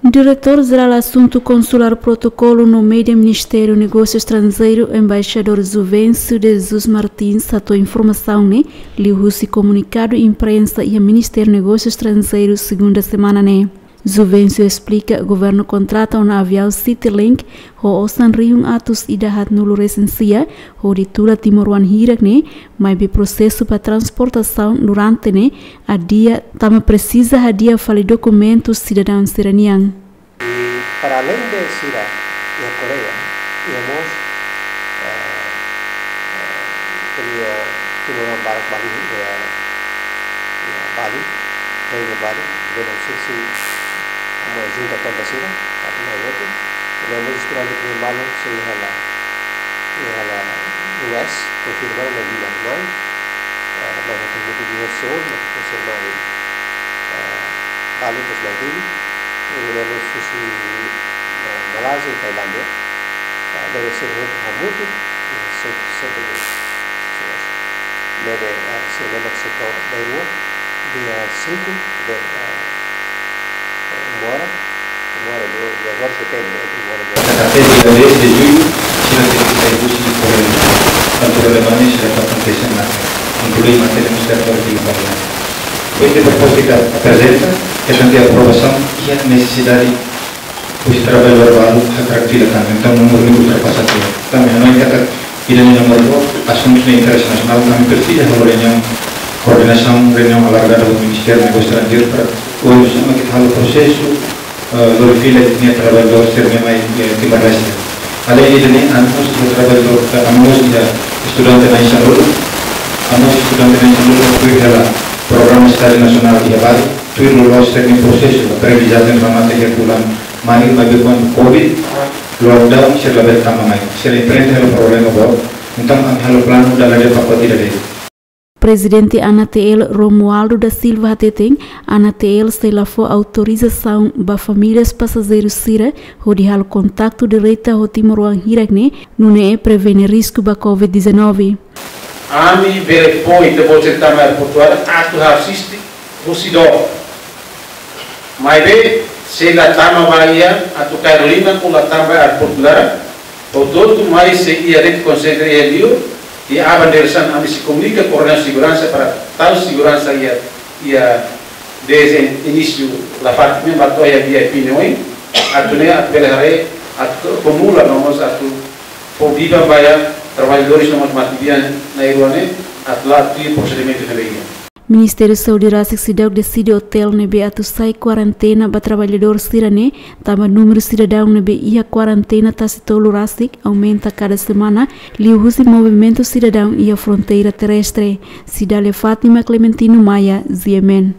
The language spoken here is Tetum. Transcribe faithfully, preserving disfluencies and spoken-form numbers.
Diretór Jerál Asuntu Konsulár, Protokolu no Média, Ministériu Negósiu Estranjeiru, Embaixadór Juvencio de Jesus Martins, hato'o informasaun ne'e liuhusi komunikadu imprensa iha Ministériu Negósiu Estranjeiru, segunda semana ne'e. Juvencio esplika, governu kontrata ona aviaun Citylink ho osan rihun atus ida haatnulu resin sia, hodi tula timoroan hirak ne'e, maibé prosesu ba transportasaun durante ne'e adia, tanba presiza hadi'a fali dokumentu sidadaun sira-nian. I para além de sira iha Koreia, iha mós, eh, eh, ko'alia timoroan barak ba iha, iha Bali, Reinu Bali, bele sisi uma junta tonta sira, atu mai hotu, i mós estudante ke malu sei iha la, iha la U S, konfirma na Dina mai, eh, mai hotu mutu di Seoul, mai hotu Seoul mai, eh, Bali, terus mai Dili, i mós husi, eh, Malázia i Tailándia, eh, bele sira hotu hamutuk, eh, se-, se-, se-, ne'ebé, eh, sira ne'ebé setór bairru, dia cinco de, eh, uma hora, uma hora, duas horas, depende, entre uma hora e duas horas. Até dia dez de julho, sira tenke sai husi governu. Tantu relevante, sira atu akontese ona, inklui matéria no setór de variante. Ohin, proposta ita aprezenta, ita tenke aprovasaun, iha nesesidade husi traballadór balu hakarak fila tan, entaun númeru ultrapasa tiha. Tanba hanoin katak ida-ne'e númeru, asuntu ne'e interese nasionál, ami presiza halo reuniaun koordenasaun, reuniaun alargada ho Ministériu Negósiu Estranjeiru para oinsá mak ita halo prosesu, eh, lori fila ita-nia traballadór sira ne'e mai, eh, Timor-Leste. Além de ne'e, ami mós iha traballadór, eh, ami mós iha estudante na'in sanulu, ami mós estudante na'in sanulu, tuir hela programa estájiu nasionál iha Bali, tuir loloos sira-nia prosesu, aprendizajen remata iha fulan Maio, maibé kuandu covid, lockdown, sira labele tama mai. Sira enfrenta hela problema boot, entaun ami halo planu dala ida pakote ida de'it. Prezidente Anatel Romualdo da Silva hateten, Anatel sei la fó autorizasaun ba famílias pasajeiru sira hodi halo kontaktu direta ho timoroan hirak ne'e, nune'e prevene risku ba covid dezanove. Ami bele fó ita-boot sira tama aeroportu Ara atu asiste husi dook. Maibé, se la tama ba iha atu Carolina, ou la tama ba aeroportu Ara, hotu-hotu mai sei iha rede konsentra iha liur, i aban diresaun ami sei komunika koordenasaun seguransa para tau seguransa iha, iha desde inísiu la fatin ne'e ba to'o iha V I P ne'e oin, atu nune'e atu bele haree, atu akumula no mós atu fó biban ba iha traballadores no mós matebian na'in-rua ne'e, atu la'o tuir prosedimentu ne'ebé iha. Ministériu Saúde rasik seidauk deside otél ne'ebé atu sai kuarentena ba traballadór sira-ne'e, tanba númeru sidadaun ne'ebé iha kuarentena tasi tolu rasik aumenta kada semana, liuhusi movimentu sidadaun iha fronteira terrestre. Cidália Fátima Clementino Maia, G M N.